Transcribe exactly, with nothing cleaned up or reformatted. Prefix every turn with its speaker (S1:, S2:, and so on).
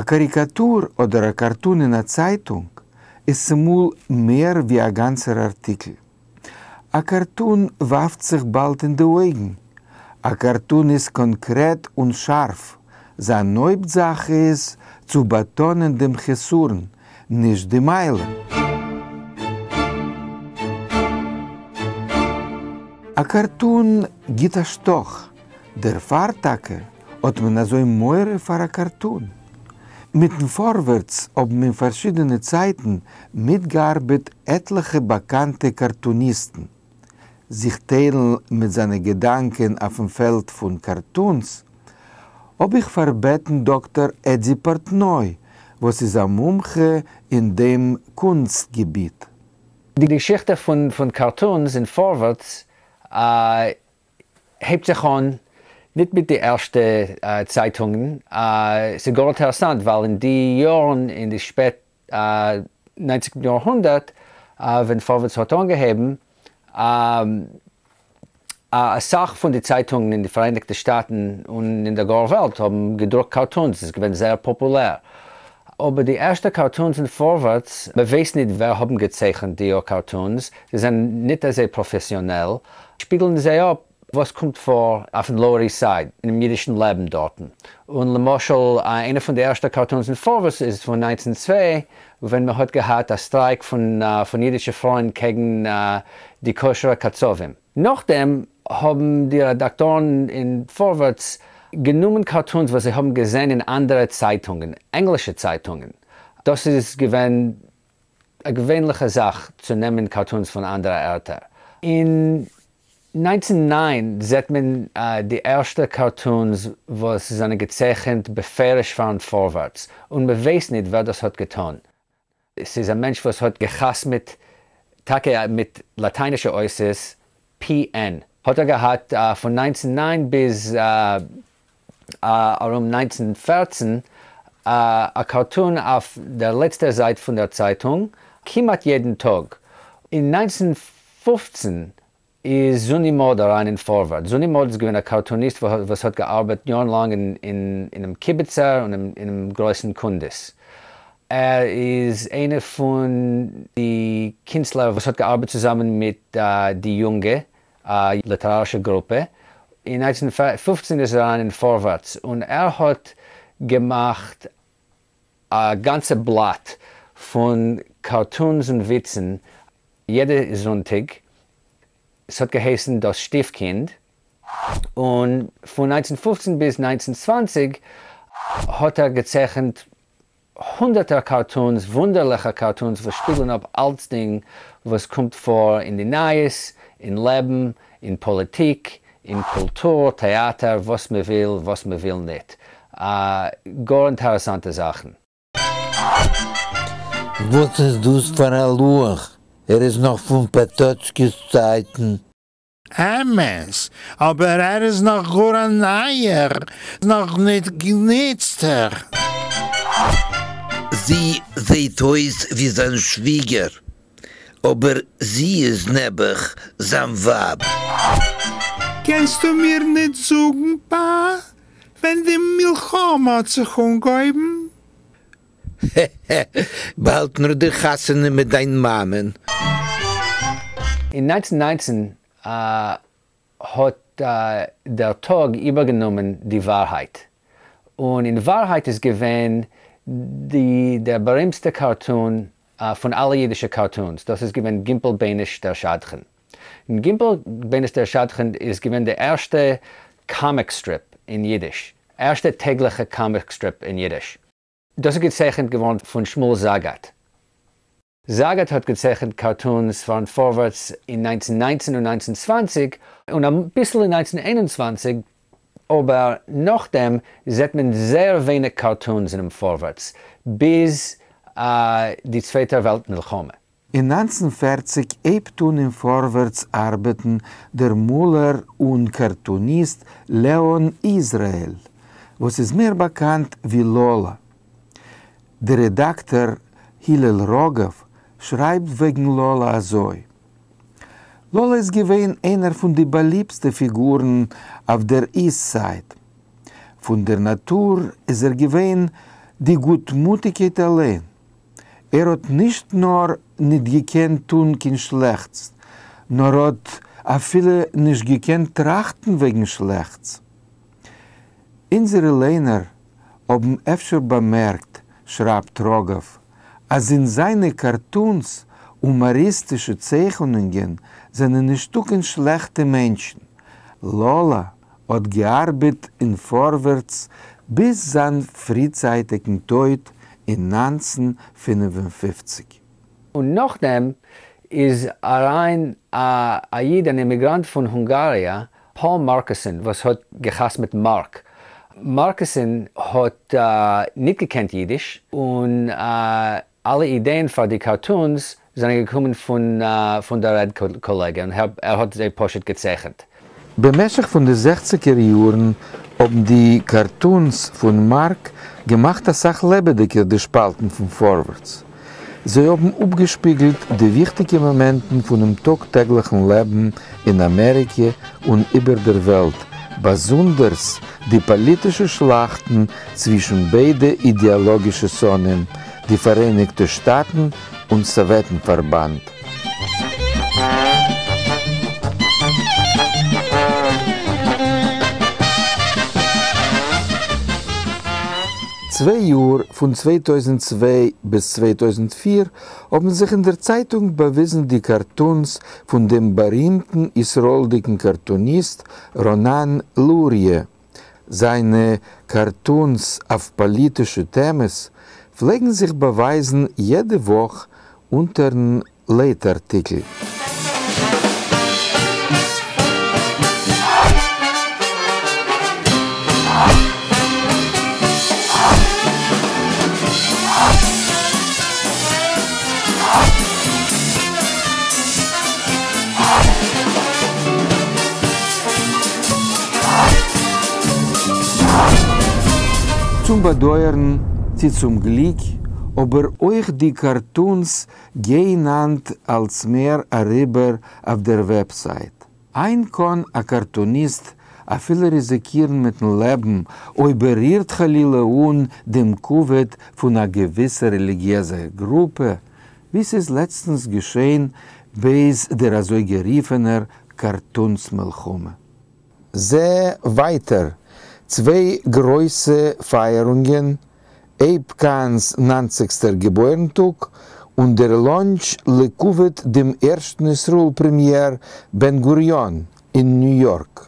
S1: קאריקאטור אדער א קארטון אין א צייטונג איז צומאל מער ווי א גאנצער ארטיקל. א קארטון ווארפט זיך באלד אין די אויגן. א קארטון איז קאנקרעט און שארף. זיין הויפט זאך איז צו באטאנען דעם חסרון, נישט די מעלה. א קארטון גיט א שטאך, דערפאר טאקע האט מען אזוי מורא פאר א קארטון. מיטן פארווערטס האבן אין פארשידענע צייטן מיטגעארבעט עטליכע באקאנטע קארטוניסטן. זיך טיילן מיט זיינע געדאנקען אויפן פעלד פון קארטונס, האב איך פארבעטן דאקטאר עדזי פארטנוי, וואס איז א מומחה אין דעם קונסט-געביט.
S2: די געשיכטע פון פון קארטונס אין פארווערטס הייבט זיך אן ניט מיט די ערשטע צייטונגען. ס'איז גאר אינטערעסאנט, ווייל אין די יארן, אין די שפעט ניינצנטן יארהונדערט, ווען פארווערטס האט אנגעהויבן, א סך פון די צייטונגען אין די פאראייניגטע שטאטן און אין דער גארער וועלט האבן געדרוקט קארטונס, ס'איז געווען זייער פאפולער. אבער די ערשטע קארטונס אין פארווערטס, מען ווייסט ניט ווער האבן געצייכנט די קארטונס, זיי זענען ניט אזוי פראפעסיאנעל, שפיגלן זיי אפ וואס קומט פאר אויפן לאוער איסט סייד, אינעם אידישן לעבן דארטן. און למשל, איינע פון די ערשטע קארטונס אין פארווערטס איז פון נײַנצן צוויי, ווען מען האט געהאט א סטרייק פון פון אידישע פרויען קעגן די כשר'ע קצבים. נאכדעם האבן די רעדאקטארן אין פארווערטס גענומען קארטונס וואס זיי האבן געזען אין אנדערע צייטונגען, ענגלישע צייטונגען. דאס איז געווען א געווענליכע זאך צו נעמען קארטונס פון אנדערע ערטער. אין נײַנצן נײַן זעט מען די ערשטע קארטונס וואס זענען געצייכנט בפירוש פארן פארווערטס, און מען ווייסט ניט ווער דאס האט געטאן. ס'איז א מענטש וואס האט געחתמעט טאקע מיט לאטיינישע אותיות P N. האט ער געהאט פון נײַנצן נײַן ביז ארום נײַנצן פֿערצן א קארטון אויף דער לעצטער זייט פון דער צייטונג כמעט יעדן טאג. אין נײַנצן פֿופֿצן איז זוני מארד אריין אין פארווארטס. זוני מארד איז געווען א קארטוניסט וואס האט געארבעט יארן לאנג אינעם קיבעצער און אינעם גרויסן קונדס. ער איז איינער פון די קינסטלער וואס האט געארבעט צוזאמען מיט די יונגע ליטערארישע גרופע. אין נײַנצן פֿופֿצן איז ער אריין אין פארווארטס און ער האט געמאכט א גאנצע בלאט פון קארטונס און וויצן יעדע זונטאג. ס'האט געהייסן דאס שטיפקינד, און פון נײַנצן פֿופֿצן ביז נײַנצן צוואַנציק האט ער געצייכנט הונדערטער קארטונס, וואונדערליכע קארטונס וואס שפיגלען אפ אלצדינג וואס קומט פאר אין די נייעס, אין לעבן, אין פאליטיק, אין קולטור, טעאטער, וואס מען וויל, וואס מען וויל ניט. גאר אינטערעסאנטע זאכן.
S3: וואס איז דאס פאר א לוח? ער איז נאך פון פאטאצקי'ס צייטן.
S4: אמת, אבער ער איז נאך גאר א נייער, נאך ניט גענוצטער.
S3: זי זעהט אויס ווי זיין שוויגער, אבער זי איז נעבעך זיין ווייב.
S4: קענסטו מיר ניט זאָגן, פּאַ, ווען די מלחמה האָט זיך אָנגעהויבן?
S3: הע-הע, באַלד נאָך דער חתונה מיט דיין מאַמען.
S2: אין נײַנצן נײַנצן האט דער טאג איבערגענומען די ווארהייט, און אין ווארהייט איז געווען די דער בארימסטע קארטון פון אלע אידישע קארטונס, דאס איז געווען גימפל בייניש דער שדכן. און גימפל בייניש דער שדכן איז געווען די ערשטע קאמיק סטריפ אין אידיש, ערשטע טעגליכע קאמיק סטריפ אין אידיש. דאס איז געצייכנט געווארן פון שמואל זאגאט. זאגאט האט געצייכנט קארטונס פארן פארווערטס אין נײַנצן נײַנצן און נײַנצן צוואַנציק און אביסל אין נײַנצן איין און צוואַנציק, אבער נאכדעם זעט מען זייער ווייניג קארטונס אינעם פארווערטס ביז די צווייטע וועלט מלחמה.
S1: אין נײַנצן פֿערציק הייבט אן אין פארווערטס ארבעטן דער מאלער און קארטוניסט לעאן איזראעל, וואס איז מער באקאנט ווי לאלא. דער רעדאקטאר הלל ראגאוו שרייבט וועגן לאלא אזוי: לאלא איז געווען איינער פון די באליבסטע פיגורן אויף דער איסט סייד. פון דער נאטור איז ער געווען די גוטמוטיקייט אליין. ער האט נישט נאר ניט געקענט טון קיין שלעכטס, נאר האט אפילו נישט געקענט טראכטן וועגן שלעכטס. אונזערע לייענער האבן אפשר באמערקט, שרייבט ראגאוו, אז אין זיינע קארטונס הומאריסטישע צייכענונגען זענען נישטא קיין שלעכטע מענטשן. לאלא האט געארבעט אין פארווערטס ביז זיין פריצייטיקן טויט אין נײַנצן פֿינף און פֿופֿציק.
S2: און נאכדעם איז אריין א א איד אן אימיגראנט פון הונגאריע, פאול מארקוסען, וואס האט געחתמעט מארק. מארקוסען האט ניט געקענט אידיש, און אלע אידעען פאר די קארטונס זענען געקומען פון פון דער רעד קאלעגע, און ער האט זיי פשוט געצייכנט.
S1: במשך פון די זעכציגער יארן האבן די קארטונס פון מארק געמאכט אסאך לעבעדיגער די שפאלטן פון פארווערטס. זיי האבן אפגעשפיגלט די וויכטיגע מאמענטן פונעם טאג טעגליכן לעבן אין אמעריקע און איבער דער וועלט, באזונדערס די פאליטישע שלאכטן צווישן ביידע אידעאלאגישע שונאים, די פאראייניגטע שטאטן און סאוועטן פארבאנד. צוויי יאר, פון צוויי טויזנט צוויי ביז צוויי טויזנט פֿיר, האבן זיך אין דער צייטונג באוויזן די קארטונס פון דעם בארימטן ישראלדיקן קארטוניסט רונן לוריא. זיינע קארטונס אויף פאליטישע טעמעס פלעגן זיך באווייזן יעדע וואך אונטערן לייט-ארטיקל. צום באדויערן צי צום גליק, אבער אויך די קארטונס גייען היינט אלץ מער אריבער אויף דער וועבסייט. היינט קאן א קארטוניסט אפילו ריזיקירן מיטן לעבן אויב ער רירט חלילה אן דעם כבוד פון א געוויסע רעליגיעזע גרופע, ווי ס'איז לעצטנס געשען בעת דער אזוי גערופענער קארטונס מלחמה. זע ווייטער, צוויי גרויסע פייערונגען, אייב קאהן'ס נײַנציגסטער געבוירן-טאג און דער לאנטש לכבוד דעם ערשטן ישראל פרעמיער בן גוריון אין ניו יארק.